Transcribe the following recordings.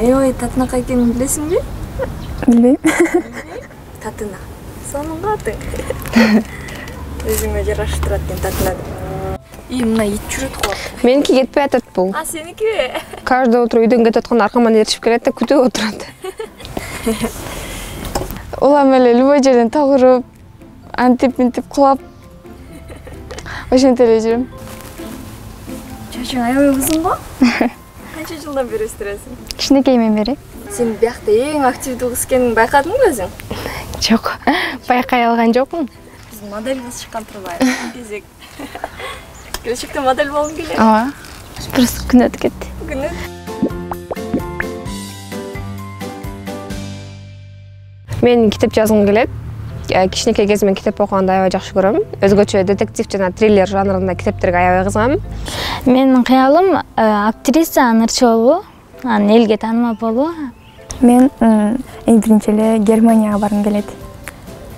Аябай татынакай экенин билесиңби? Билбейм. Татына. Сонун атың. Өзүңө жарашып турат экен татына. Мына ит жүрөт го. Меники кетпей атат бул. Сеники? Каждый утро үйдөн кетип атканда аркаман ээрчип келет да күтүп отурат. Улам эле любой жерден тогуруп, антип кулап. Ошентип эле жүрөм. Чачың аябай узун го? Канча жылдан бери өстүрөсүң? Кичинекейимден бери. Сен биякта эң активдүү кыз экенин байкадыңбы өзүң? Жок, байкай алган жокмун. Биз модель кыз чыккан турбайбы? Кезек. Келечекте модель болгуң келет? Ооба. Просто күн өтүп кетти. Күн Мен китеп жазгым келет. Кичинекей кезимден китеп окуганды аябай жакшы көрөм. Өзгөчө детектив жана триллер жанрында китептерге аябай кызыгам. Менин кыялым актриса ынырчы болуу, анан элге таанымал болуу. Мен эң биринчи эле Германияга баргым келет.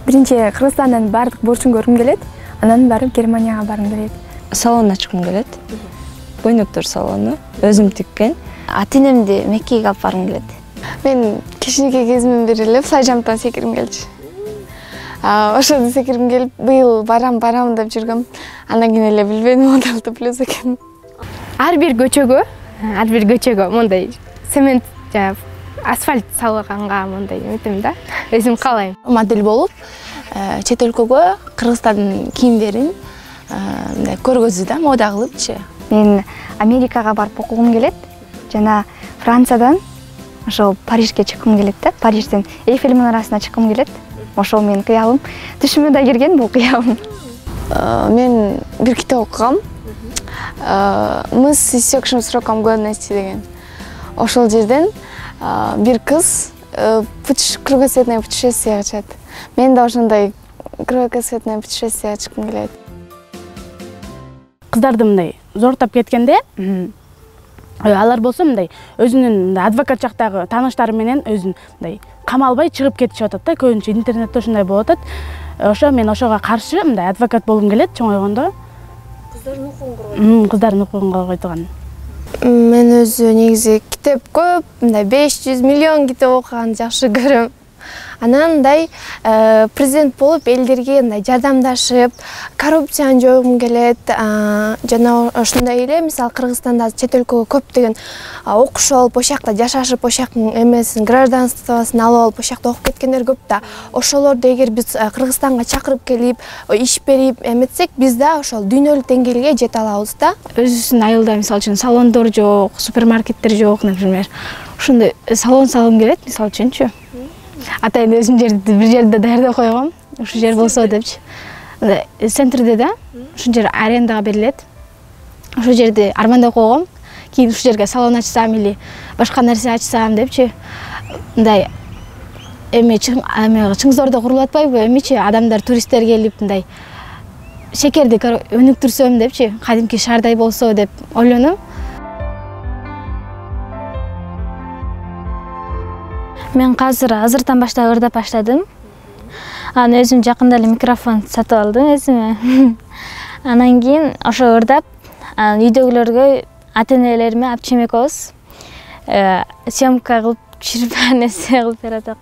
Биринчи Кыргызстандан бардык борчун көргүм келет, анан барып Германияга баргым келет. Салон ачкым келет. Бойноктор салону, өзүм тиккен. Ата-энемди Меккеге алып баргым келет. Мен кичинекей кезимден бери эле флай-жамптан секиргим келчү. Ошону секиргим келип, быйыл барам деп жүргөм. Андан кийин эле билбедим, модалды плюс экен. Ар бир көчөгө мондай цемент жана асфальт салганга мондай эметем да. Өзүм каалайм. Модель болуп, чет өлкөгө Кыргызстандын кийимдерин мындай көргөзүү да, мода кылыпчы. Мен Америкага барып окугум келет жана Франциядан ошол Парижге чыккым келет да. Парижден Эйфель мунарасына чыккым келет. Ошол менин кыялым. Түшүмө да кирген бул кыялым. Мен бир китеп окугам. Мы с иссекшим сроком годности деген. Ошол жерден бир кыз кругосветное путешествие чыгат. Мен да ошондой кругосветное путешествие чыккым келет. Кыздарды мындай зортоп кеткенде, алар болсо мындай өзүнүн адвокат жактагы тааныштары менен өзүн мындай камалбай чыгып кетишип атат да. Көбүнчө интернетте ошондой болуп атат. Ошо мен ошого каршы мындай адвокат болгум келет чоңойгондо. Кыздардын укугун коргойт. Кыздардын укугун коргойдуган. Мен өзү негизи китеп көп, мындай 500 миллион китеп окуганды жакшы көрөм. Анан мындай президент болуп элдерге мындай жардамдашып, коррупцияны жоюгум келет. Жана ошондой эле, мисалы Кыргызстанда чет өлкөгө көптөгөн окуш алып, ошол жакта жашашып, ошол жактын эмесин, гражданствосын алып алып, ошол жакта окуп кеткендер көп да. Ошолорду эгер биз Кыргызстанга чакырып келип, иш берип эметсек, биз да ошол дүйнөлүк деңгээлге жете алабыз да. Өзүбүздүн айылда мисалы үчүн салондор жок, супермаркеттер жок, например. Ошондой салон салгым келет, мисалы үчүнчү. Атайын өзүм бир жерде даярдап койгом. Ушул жер болсо депчи. Центрде да, ушул жер арендага берилет. Ошол жерди армандап койгом. Кийин ушул жерге салон ачсам или башка нерсе ачсам депчи. Мындай чыңзордо курулуп атпайбы? Эмичи адамдар, туристтер келип мындай шекерди өнүктүрсөм депчи. Кадимки шаардай болсо деп ойлонум. Мен азыртан баштап ырдап баштадым. Анан өзүм жакында эле микрофон сатып алдым өзүмө. Анан кийин ошо ырдап, үйдөгүлөргө ата-энелериме алып чейим экөөбүз съемка кылып, түшүрүп нерсе кылып бератак.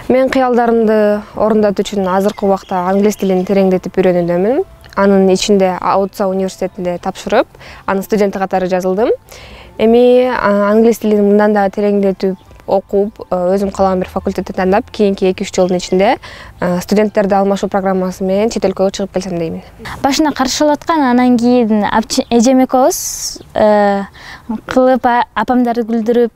Мен кыялдарымды орундатуу үчүн азыркы убакта англис тилин тереңдетип үйрөнүүдөмүн. Анын ичинде Аутса университетинде тапшырып, анын студенти катары жазылдым. Эми англис тилин мындан да тереңдетип окуп, өзүм каалаган бир факультетти тандап, кийинки 2-3 жылдын ичинде студенттерди алмашуу программасы менен чет өлкөгө чыгып келсем деймин. Башына каршы болуп аткан, анан кийин эжем экөөбүз кылып, апамдарды күлдүрүп,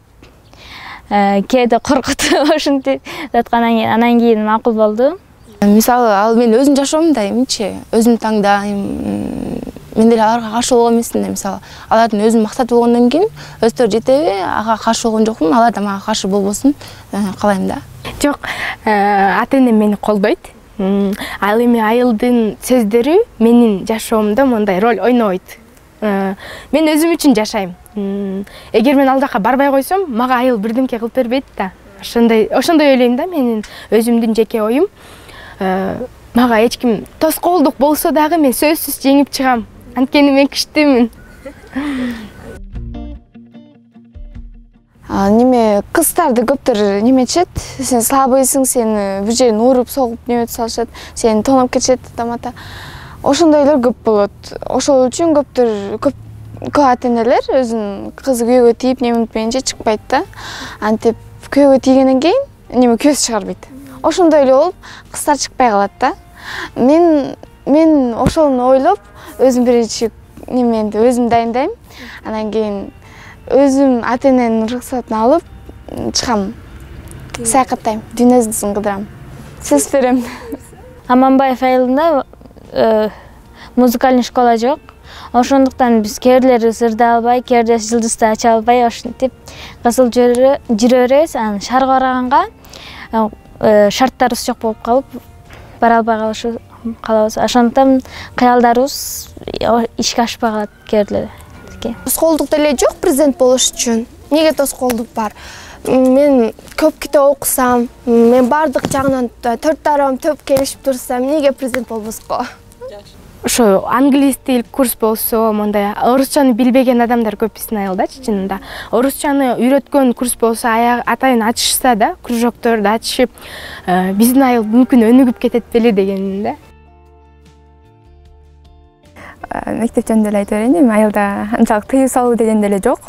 кээде коркутуп ушинтип жаткандан кийин анан кийин макул болду. Мисалы, ал мен өзүм жашоомда эмчи, өзүм таңдайм. Мен деле аларга каршы болгон эмесмин да, мисалы. Алардын өзүнүн максаты болгондон кийин өздөрү жетеби, ага каршы болгон жокмун, алар да мага каршы болбосун каалайм да. Жок, ата-энем мени колдойт. Ал эми айылдын сөздөрү менин жашоомдо мондай роль ойнобойт. Мен өзүм үчүн жашайм. Эгер мен ал жака барбай койсом, мага айыл бирдемке кылып бербейт да. Ошондой ойлойм да, менин өзүмдүн жеке оюм. Мага эч ким тоскоолдук болсо дагы мен сөзсүз жеңип чыгам. Анткени мен күчтүүмүн. неме кыздарды көптөр неметишет, сен слабыйсың, сени бир жерин уруп согуп неметип салышат, сени тоноп кетишет тамата. Ошондойлор көп болот. Ошол үчүн көп ата-энелер өзүнүн кызы күйөөгө тийип неме утпайынча чыкпайт да. Антип күйөөгө тийгенден кийин неме көз чыгарбайт. Ошондой эле болуп кыздар чыкпай калат да. Мен ошону ойлоп өзүм биринчи неменди өзүм дайындайм. Анан кийин өзүм ата-эненин уруксатын алып чыгам. Саякаттайм, дүйнөсүн кыдырам. Сөз берем. Аманбаев айылында музыкальный школа жок. Ошондуктан биз кээрлери ырды албай, кээрлери жылдызды ача албай ошентип кысылып жүрө беребиз. Анан шаарга барганга шарттарыбыз жок болуп калып, бара албай калабыз. Ошондуктан кыялдарыбыз ишке ашпай калат кээрлерге. Тоскоолдук деле жок президент болуш үчүн. Неге тоскоолдук бар? Мен көп китеп окусам, мен бардык жагынан төрт дарабам төп келишип турсам, неге президент болбоско? Ошо англис тил курс болсо, мондай орусчаны билбеген адамдар көп биздин айылдачы чынында. Орусчаны үйрөткөн курс болсо, атайын ачышса да, кружокторду ачышып, биздин айыл мүмкүн өнүгүп кетет беле дегеним да. Мектеп жөнүндө эле айта берейин, эми айылда анчалык тыюу салуу деген деле жок.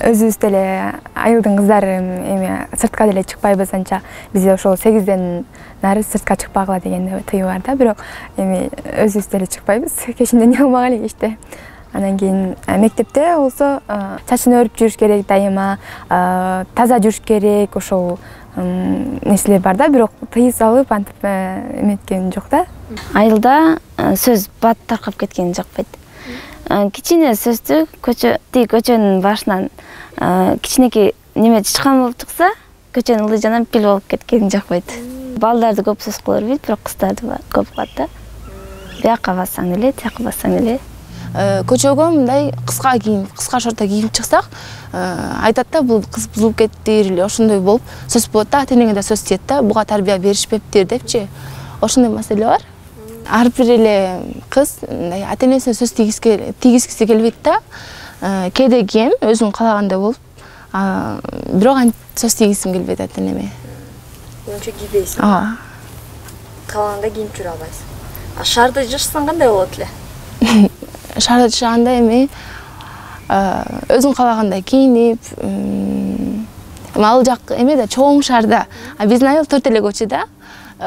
Өзүбүз деле айылдын кыздары эми сыртка деле чыкпайбыз анча. Бизде ошол 8ден нары сыртка чыкпагыла деген тыюу бар да, бирок эми өзүбүз деле чыкпайбыз. Кечинде не кылмак эле кечте. Анан кийин мектепте болсо чачын өрүп жүрүш керек дайыма, таза жүрүш керек, ошол нерселер бар да, бирок тыюу салып антип эметкен жок да. Айылда сөз бат таркап кеткен жакпайт. Кичине сөздү көчөнүн башынан кичинекей неме чычкан болуп чыкса, көчөнүн ылдый жанан пил болуп кеткен жакпайт. Балдарды көп сөз кыла бербейт, бирок кыздарды көп кылат да. Бияка бассаң эле, тияка бассаң эле. Көчөгө мындай кыска шорто кийип чыксак, айтат да, бул кыз бузулуп кеттир эле ошондой болуп сөз болот да, ата-энеге да сөз тиет да, буга тарбия беришпептир депчи. Ошондой маселе бар. Ар бир эле кыз ата-энесине сөз тийгизгиси келбейт да. Кээде кийем өзүм каалагандай болуп, бирок сөз тийгизгим келбейт ата-энеме. Ошо кийбейсиң. Каалагандай кийип жүрө албайсың. Шаарда жашасаң кандай болот эле? Шаарда жашаганда эми өзүм каалагандай кийинип, ал жак эме да чоң шаарда. Биздин айыл 4 эле көчө да.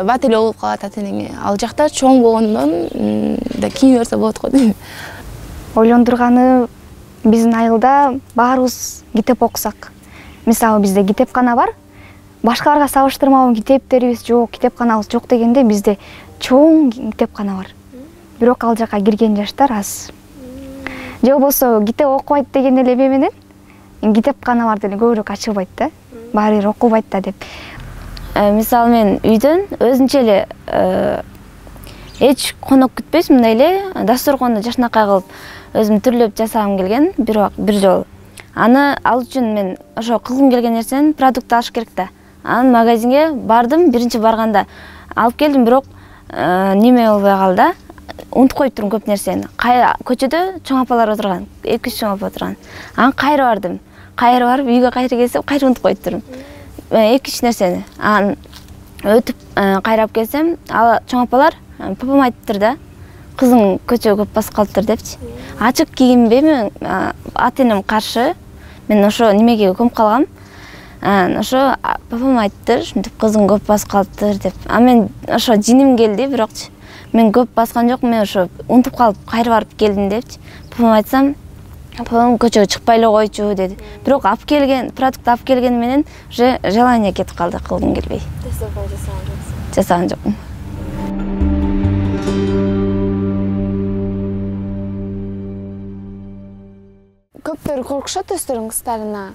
Бат эле болуп калат ата-энеге. Ал жакта чоң болгондон да кийине берсе болот го дейм. Ойлондурганы биздин айылда баарыбыз китеп окусак. Мисалы бизде китепкана бар. Башкаларга салыштырмалуу китептерибиз жок, китепканабыз жок дегенде бизде чоң китепкана бар. Бирок ал жака кирген жаштар аз. Же болбосо китеп окубайт деген эле эме менен китепкана бар деле көбүрөөк ачылбайт да. Баары бир окубайт да деп. Мисалы мен үйдөн өзүнчө эле эч конок күтпөйсүм, мындай эле дасторконду жашынакай кылып өзүм түрлөп жасагым келген бир жолу. Аны ал үчүн мен ошо кылгым келген нерсени продукт алыш керек да. Анан магазинге бардым, биринчи барганда алып келдим, бирок неме болбой калды. Унутуп коюп турдум көп нерсени. Көчөдө чоң апалар отурган, 2-3 чоң апа отурган. Анан кайра бардым. Кайра барып үйгө кайра келсем, кайра унутуп коюп турдум. 2-3 нерсени. Анан өтүп кайрап келсем, ал чоң апалар папам айтыптыр да, кызың көчөгө көп басып калыптыр депчи. Ачык кийинбейми, ата-энем каршы. Мен ошо немеге көмүп калгам. Ошо папам айтыптыр, ушинтип кызың көп басып калыптыр деп. Мен ошо жиним келди, бирокчу мен көп баскан жок, мен ошо унутуп калып кайра барып келдим депчи. Папам айтсам, папам көчөгө чыкпай эле койчу деди. Бирок алып келген, продукт алып келгени менен уже желание кетип калды, кылгым келбей. Жасаган жокмун. Көптөр коркушат өздөрүнүн кыздарына.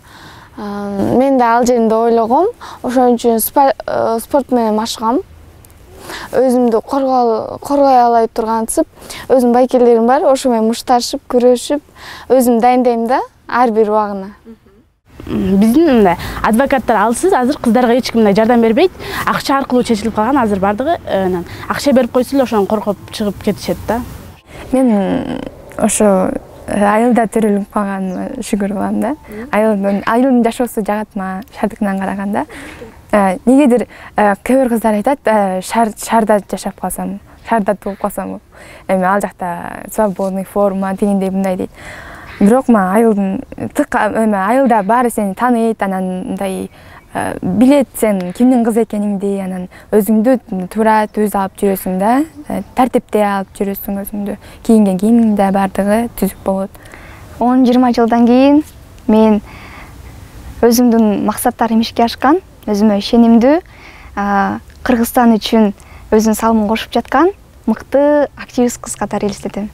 Мен да ал жеринде ойлогом, ошон үчүн спорт менен машыгам. Өзүмдү коргой алай тургансып, өзүм байкелерим бар, ошо менен мушташып, күрөшүп, өзүм дайындайм да ар бир убагына. Биздин мындай адвокаттар алсыз, азыр кыздарга эч ким жардам бербейт. Акча аркылуу чечилип калган азыр бардыгы. Акча берип койсо эле ошону коркуп чыгып кетишет да. Мен ошо айылда төрөлүп калганыма шүгүр кылам да. Айылдын жашоосу жагат мага шаардыкынан караганда. Негедир кээ бир кыздар айтат, шаарда жашап калсам, шаарда тууп калсам, эми ал жакта свободный форма дегендей мындай дейт. Бирок мага айылда баары сени тааныйт, анан мындай билет сен кимдин кызы экениңди, анан өзүңдү туура түз алып жүрөсүң да, тартипте алып жүрөсүң өзүңдү. Кийинген кийимиң да баардыгы түзүк болот. 10-20 жылдан кийин мен өзүмдүн максаттарым ишке ашкан, өзүмө ишенимдүү, Кыргызстан үчүн өзүнүн салымын кошуп жаткан мыкты активист кыз катары элестетем.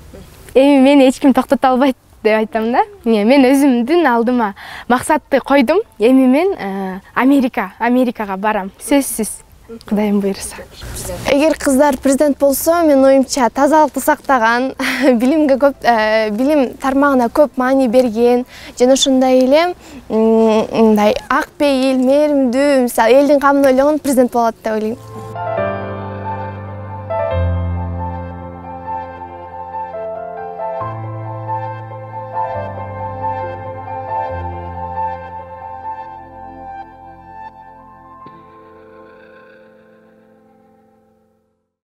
Эми мени эч ким токтото албайт деп айтам да. Мен өзүмдүн алдыма максатты койдум. Эми мен Америкага барам. Сөзсүз. Кудайым буйруса. Эгер кыздар президент болсо, мен оюмча тазалыкты сактаган, билимге көп, билим тармагына көп маани берген, жана ошондой эле мындай ак пейил, мээримдүү, мисалы элдин камын ойлогон президент болот деп ойлойм.